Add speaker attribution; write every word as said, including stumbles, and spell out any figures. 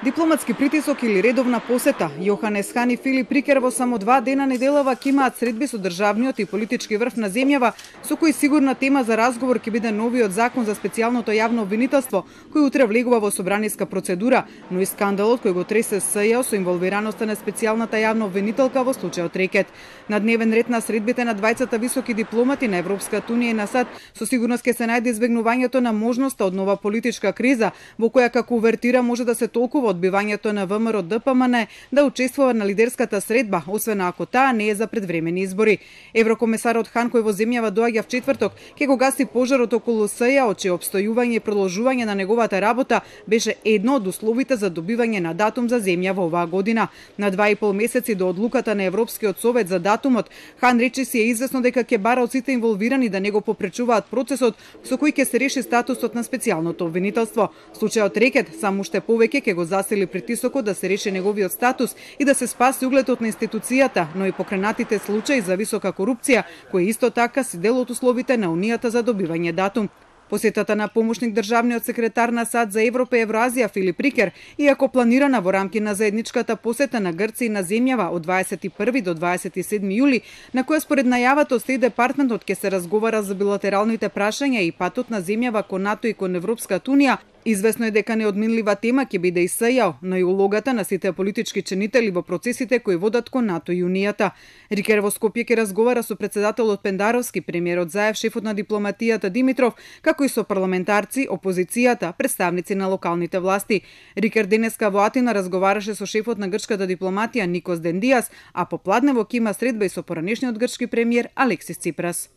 Speaker 1: Дипломатски притисок или редовна посета? Јоханес Хан и Филип Рикер во само два дена неделава ќе имаат средби со државниот и политички врв на земјава, со кој сигурна тема за разговор ќе биде новиот закон за специјалното јавно обвинителство, кој утре влегува во собраниска процедура, но и скандалот кој го тресе СЈ со инволвираноста на специјалната јавна обвинителка во случајот Рекет. На дневен ред на средбите на двајцата високи дипломати на Европската унија и на САД со сигурност ќе се најде избегнувањето на можноста од нова политичка криза, во која како увертира може да се толкува одбивањето на ВМРО Д П М Н да учествува на лидерската средба, освен ако таа не е за предвремени избори. Еврокомесарот Хан, кој во земјава доаѓа в четврток, ќе го гаси пожарот околу СЈ, од чие обстојување и продолжување на неговата работа беше едно од условите за добивање на датум за земја во оваа година. На два и пол месеци до одлуката на Европскиот совет за датумот, Хан рече си е известно дека ќе бара од сите инволвирани да не го попречуваат процесот со кој ќе се реши статусот на специјалното обвинителство. Случајот Рекет само уште повеќе ќе го засили притисокот да се реши неговиот статус и да се спаси угледот на институцијата, но и покренатите случаи за висока корупција, кои исто така си дел од условите на Унијата за добивање датум. Посетата на помошник државниот секретар на САД за Европа и Евразија Филип Рикер, иако планирана во рамки на заедничката посета на Грција и на земјава од дваесет и први до дваесет и седми јули, на која според најавата од Стејт департментот ќе се разговара за билатералните прашања и патот на земјава кон НАТО и кон Европската унија, известно е дека неодминлива тема ќе биде и СЈ, но и улогата на сите политички чинители во процесите кои водат кон НАТО и Унијата. Рикер во Скопје ќе разговара со председателот Пендаровски, премиерот Заев, шефот на дипломатијата Димитров, како и со парламентарци, опозицијата, представници на локалните власти. Рикер денеска во Атина разговараше со шефот на грчката дипломатија Никос Дендијас, а попладнево ќе има средба и со поранешниот грчки премиер Алексис Ципрас.